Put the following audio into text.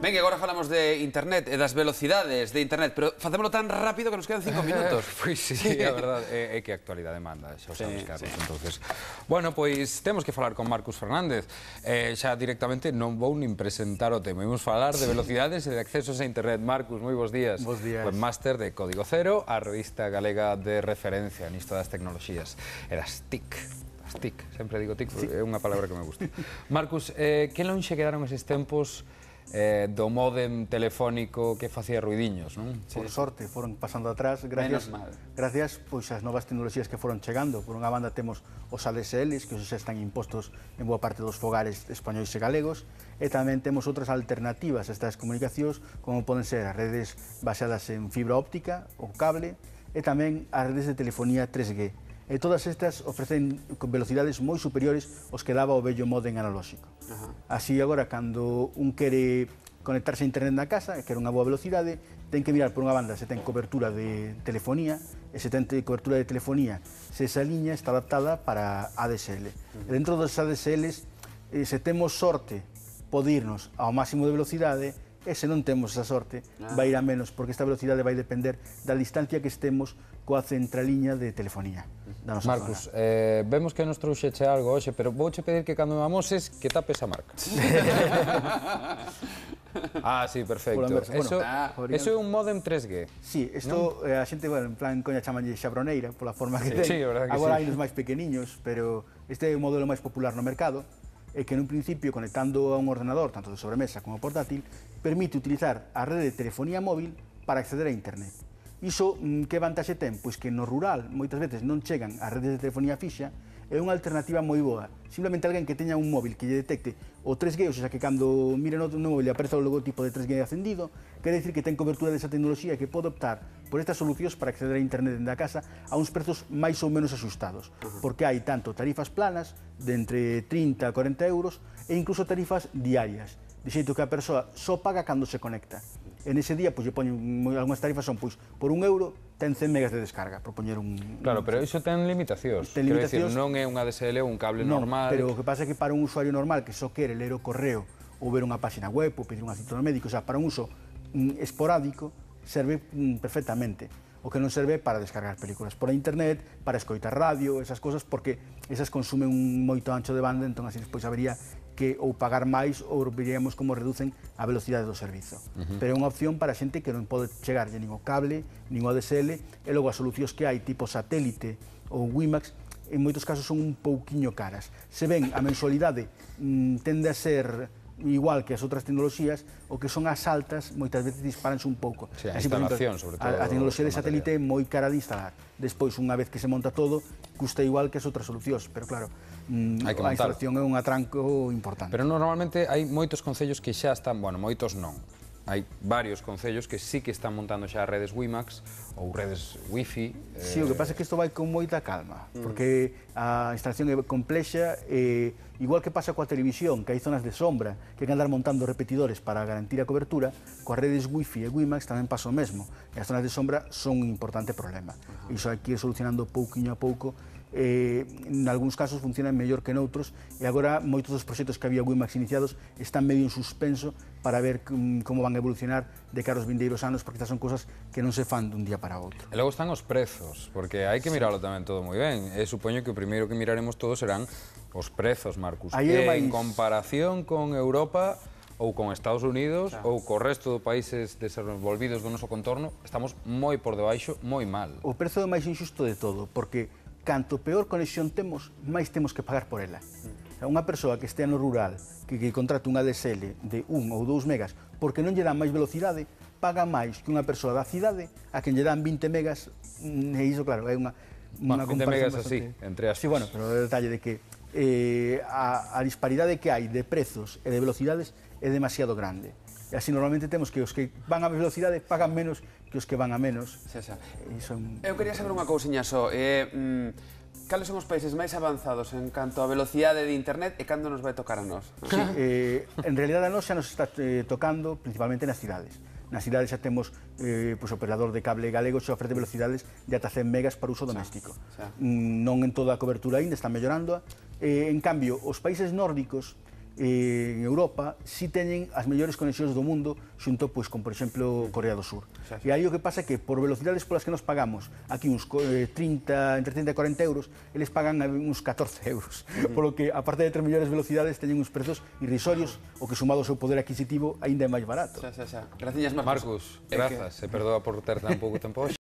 Ben, que agora falamos de internet e das velocidades de internet, pero facémolo tan rápido que nos quedan 5 minutos. Pois sí, a verdade é que a actualidade manda, xa o sabes, Carlos. Entonces, bueno, pois temos que falar con Marcus Fernández. Xa directamente non vou nin presentar o tema. Imos falar de velocidades e de accesos a internet. Marcus, moi bons días. Bos días. Webmaster de Código Cero, a revista galega de referencia nisto das tecnoloxías e das TIC. As TIC, sempre digo TIC, é unha palabra que me gusta. Marcus, que lonxe quedaron eses tempos do módem telefónico que facía ruidiños, non? Por sorte, foron pasando atrás, gracias pois ás novas tecnoloxías que foron chegando. Por unha banda temos os ADSLs, que os xa están impostos en boa parte dos fogares españois e galegos, e tamén temos outras alternativas a estas comunicacións, como poden ser as redes baseadas en fibra óptica ou cable, e tamén as redes de telefonía 3G. E todas estas ofrecen velocidades moi superiores aos que daba o vello módem analóxico. Así agora, cando un quere conectarse a internet na casa, e quere unha boa velocidade, ten que mirar por unha banda se ten cobertura de telefonía, e se ten cobertura de telefonía, se esa liña está adaptada para ADSL. E dentro dos ADSLs, se temos sorte, pode irnos ao máximo de velocidade, e se non temos esa sorte, vai ir a menos, porque esta velocidade vai depender da distancia que estemos coa centraliña de telefonía da nosa Marcus, zona. vemos que nos trouxeche algo hoxe, pero vouche pedir que cando me amoses que tapes a marca. Sí, perfecto. Eso é un módem 3G. Sí, isto a xente, bueno, en plan coña chamanlle xabroneira pola forma que ten. Sí, a verdade que agora sí. hai nos máis pequeniños, pero este é o modelo máis popular no mercado, e que nun principio, conectando a un ordenador, tanto de sobremesa como portátil, permite utilizar a rede de telefonía móvil para acceder a internet. Iso, que vantaxe ten? Pois que no rural moitas veces non chegan as redes de telefonía fixa, é unha alternativa moi boa. Simplemente alguén que teña un móvil que lle detecte o 3G, ou seja, que cando mire no móvil aparece o logotipo de 3G acendido, quere dicir que ten cobertura desa tecnoloxía e que pode optar por estas solucións para acceder a internet dentro da casa a uns prezos máis ou menos axustados, porque hai tanto tarifas planas de entre 30 a 40 euros e incluso tarifas diarias, de xeito que a persoa só paga cando se conecta. En ese día, pois, lle poño algunhas tarifas son, pois, por 1 euro ten 100 megas de descarga, por poñer un... Claro, pero iso ten limitacións. Ten limitacións. Quero dicir, non é un ADSL ou un cable normal. Pero o que pasa é que para un usuario normal que só quere ler o correo ou ver unha página web ou pedir un asistente médico, o sea, para un uso esporádico, serve perfectamente. O que non serve é para descargar películas por internet, para escoitar radio, esas cosas, porque esas consumen un moito ancho de banda, entón así despois habería que ou pagar máis ou veríamos como reducen a velocidade do servizo. Pero é unha opción para a xente que non pode chegarlle nin o cable, nin o ADSL, e logo as solucións que hai, tipo satélite ou WiMAX, en moitos casos son un pouquiño caras. Se ven, a mensualidade tende a ser igual que as outras tecnoloxías, o que son as altas moitas veces disparanse un pouco. Sí, a instalación, sobre todo. A tecnoloxía de satélite é moi cara de instalar. Despois, unha vez que se monta todo, custa igual que as outras solucións, pero claro, a instalación é un atranco importante. Pero normalmente hai moitos concellos que xa están, bueno, moitos non. Hai varios concellos que sí que están montando xa redes WiMAX ou redes Wi-Fi. Sí, o que pasa é que isto vai con moita calma, porque a instalación é complexa e igual que pasa coa televisión, que hai zonas de sombra, que hai que andar montando repetidores para garantir a cobertura, coas redes Wi-Fi e WiMAX tamén pasa o mesmo. E as zonas de sombra son un importante problema. Iso hai que ir solucionando pouquiño a pouco. En algúns casos funcionan mellor que noutros e agora moitos dos proxectos que había WiMAX iniciados están medio en suspenso para ver como van a evolucionar de cara aos vindeiros anos, porque estas son cosas que non se fan dun día para outro. E logo están os prezos, porque hai que mirarlo tamén todo moi ben. E supoño que o primeiro que miraremos todos serán os prezos, Marcus. En comparación con Europa ou con Estados Unidos ou co resto dos países desenvolvidos do noso contorno, estamos moi por debaixo, moi mal. O prezo é máis injusto de todo, porque canto peor conexión temos, máis temos que pagar por ela. Unha persoa que estea no rural, que contrate un ADSL de 1 ou 2 megas, porque non lle dan máis velocidade, paga máis que unha persoa da cidade a quen lle dan 20 megas, e iso, claro, é unha 20 megas así, entre aspas. Sí, bueno, pero o detalle de que a disparidade que hai de prezos e de velocidades é demasiado grande. E así normalmente temos que os que van a velocidade pagan menos que os que van a menos. Eu quería saber unha cousiña só. Cales son os países máis avanzados en canto a velocidade de internet e cando nos vai tocar a nós? Sí, en realidad a nós xa nos está tocando principalmente nas cidades. Nas cidades xa temos o operador de cable galego xa ofrece velocidades de ata 100 megas para uso doméstico. Non en toda a cobertura ainda, está mellorando. En cambio, os países nórdicos en Europa si teñen as mellores conexións do mundo xunto con, por exemplo, Corea do Sur. E aí o que pasa é que por velocidades polas que nos pagamos aquí entre 30 e 40 euros, eles pagan uns 14 euros. Polo que, aparte de 3 mellores velocidades, teñen uns prezos irrisorios, o que sumado ao seu poder adquisitivo ainda é máis barato. Graciñas, Marcos, grazas, e perdoa por ter tan pouco tempo hoxe.